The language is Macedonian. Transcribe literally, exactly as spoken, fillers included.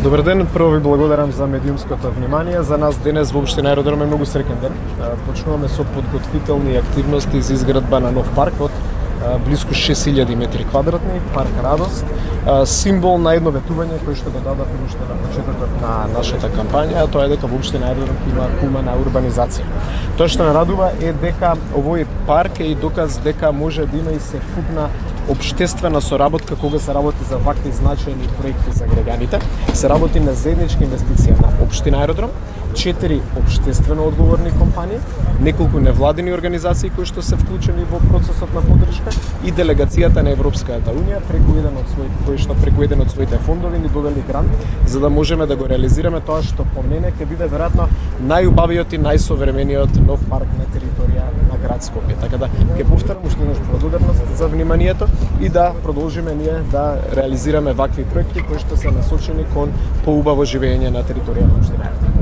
Добар ден, прво ви благодарам за медиумското внимание. За нас денес во општина Аеродром е многу среќен ден. Почнуваме со подготвителни активности за изградба на нов парк од близко шест илјади метри квадратни, парк Радост, символ на едно ветување кој што го дадав уште на почетокот на нашата кампања, а тоа е дека во општина Аеродром има кумана урбанизација. Тоа што ме радува е дека овој парк е и доказ дека може да има и севкупна општествена соработка кога се работи за вакви значајни проекти за граѓаните. Се работи на заедничка инвестиција на општина Аеродром, четири општествено одговорни компании, неколку невладини организации кои што се вклучени во процесот на поддршка и делегацијата на Европската унија преку еден од своите кои што преку еден од своите фондови ни додели грант за да можеме да го реализираме тоа што по мене ќе биде веројатно најубавиот и најсовремениот нов парк на територија на град Скопје. Така да ќе повторам уште еднаш благодарност за вниманието и да продолжиме ние да реализираме вакви проекти кои што се насочени кон поубаво живење на територија на општина Аеродром.